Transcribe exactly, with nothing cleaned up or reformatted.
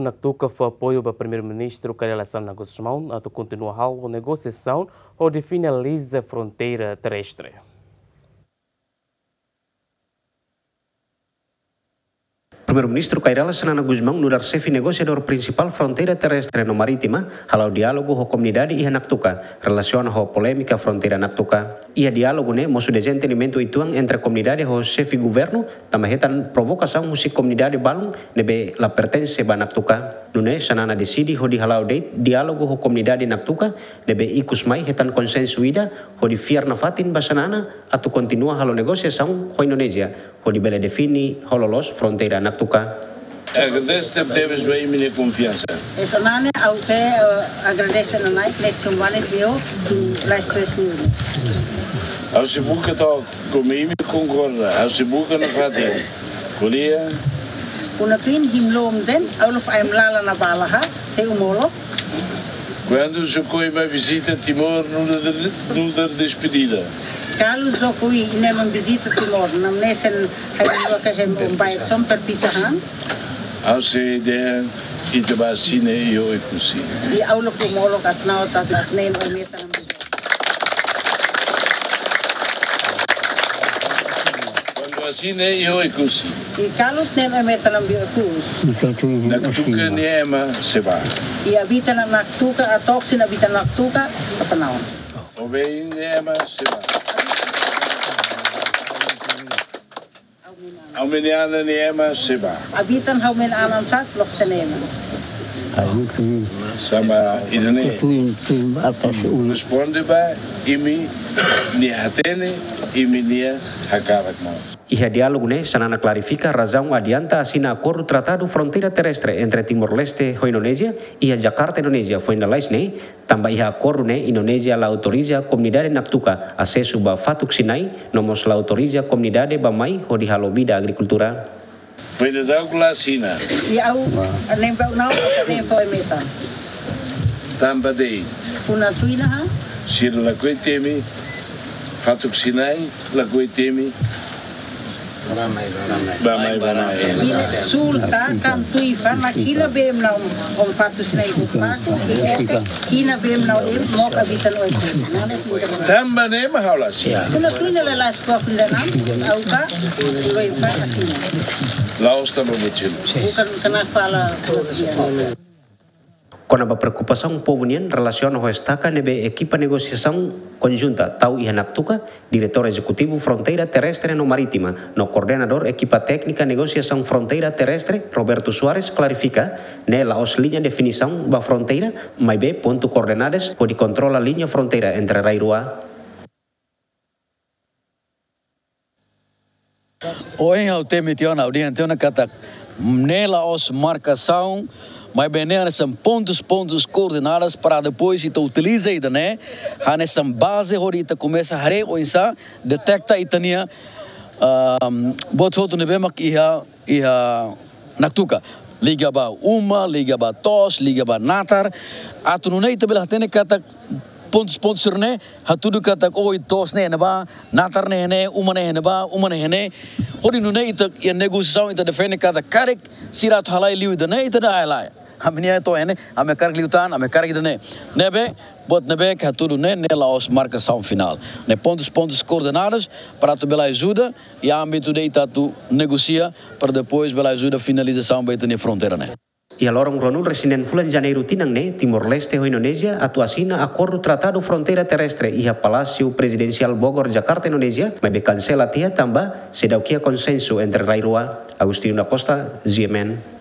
Naktuka fó apoiu ba Primeiru-Ministru Kay Rala Xanana Gusmão atu kontinua halo negosiasaun hodi finaliza fronteira terrestre. Primeiru-Ministru Kay Rala Xanana Gusmão nu'udar xefe negosiadór prinsipál fronteira terrestre no marítima hala'o diálogu ho komunidade iha Naktuka relasiona ho polémika fronteira Naktuka. Iha diálogu ne'e mosu dezentendimentu uitoan entre komunidade ho xefe governu, tanba hetan provokasaun husi komunidade balun ne'ebé la pertense ba Naktuka. Nune'e Xanana deside hodi hala'o de'it diálogu ho komunidade Naktuka ne'ebé ikus mai hetan konsensu ida, hodi fiar nafatin ba Xanana atu kontinua halo negosiasaun ho Indonézia hodi bele define ho loloos fronteira Naktuka. Agradese tebetebes ba imi-nia konfiansa. Hanesan ne'e ha'u ke, eh, agradese ona naik lek sumwane bio tu lais press news. Ha'u sei buka to'ok, komu imi konkorda, ha'u sei buka nafatin. Ko'alia. Una pin him lom den, ha'u lo fai em lala na bala ha, sei umolok. Kuandu João Coy mai vizita Timor, nu'udar, nu'udar despedida. Kalu João Coy nia mai vizita Timor, namnesen hai dua ke hem umbai som perpisahan. Ha'u sei dehan ita bá asina iha Oekusi. I ha'u lo fó molok atu na'ok atu atu ne'e Kuandu asina iha Oekusi. I kalu ne'e meta lam bi akus. Naktuka nia ema sei bá. I habitan Naktuka, a toksi habitan Naktuka, apa naun? Obein nia ema sei bá. Ha'u-nia anan nia ema sei bá. Habitan ha'u-nia anan sat lok tenema. Tanba ida-ne'e. Responde ba imi-nia hatene, imi-nia hakarak mós. Iha diálogu ne'e, Xanana klarifika razaun adianta asina akordu tratadu fronteira terrestre entre Timor-Leste ho Indonézia iha Jakarta, Indonézia, foin lalais ne'e, tanba iha akordu ne'e Indonézia la autoriza komunidade Naktuka asesu ba Fatuk Sinai, no mós la autoriza komunidade bá mai hodi halo vida agrikultura. Foin daudauk la asina. I ha'u, nem bau nau, nem bau emeta. Tanba de'it. Una tuina ha? Sira lakohi temi, Fatuk Sinai, lakohi temi. Bá mai, bá mai. Bá mai, bá mai. Ina sulta kan tui fana kina bem nau om Fatuk Sinai buk baku, kina bem nau em mok habitan Oekusi. Tanba ne'e mak ha'u la asina. Kuna tuina la las kua fila nam, ha'u ka, loi fana kina. La'ós tanba mochila. Bukan kena kepala kemudian. Kona-ba preokupasaun povu nian relasiona ho estaka ne'ebé ekipa negosiasaun konjunta tau iha Naktuka, Diretór Ezekutivu Fronteira Terrestre no Marítima no koordenadór ekipa téknika negosiasaun fronteira terrestre, Roberto Soares, klarifika, ne'e la'ós liña definisaun ba fronteira, maibé pontu koordenadas hodi kontrola liña fronteira entre rai rua. Ohin ha'u temi tiha ona, ha'u dehan tiha ona katak ne'e la'ós markasaun, maibé ne'e hanesan pontus, pontus koordenadas para depois ita utiliza ida-ne'e hanesan baze hodi ita komesa haree oinsá deteta ita-nia, ahm, buat hotu ne'ebé mak iha, iha Naktuka. Liga ba uma, liga ba to'os, liga ba natar. Atu nune'e ita bele hatene katak pontus-pontus sira-ne'e, hatudu katak, oh, to'os ne'e iha ne'ebá, natar ne'e iha ne'e, uma ne'e iha ne'ebá, uma ne'e iha ne'e. Hodi nune'e ita iha negosiasaun ita defende katak karik sira atu halai liu ida-ne'e, ita dehan halai. Ami-nia to'o iha ne'e, ami hakarak liután, ami hakarak ida-ne'e. Ne'ebé, buat ne'ebé ke hatudu ne'e, ne'e la'ós markasaun finál. Ne'e pontus, pontus koordenadas para atu bele ajuda iha ámbitu de ita atu negosia para depois bele ajuda finalizasaun ba ita-nia fronteira ne'e. Iha loron ruanulu-resin-neen fulan Janeiru tinan ne'e, Timor-Leste ho Indonézia atu asina akordu tratadu fronteira terrestre iha Palásiu Prezidensiál Bogor, Jakarta, Indonézia, maibé kansela tiha tanba seidauk iha konsensu entre rai rua. Agostinho da Costa, G M N.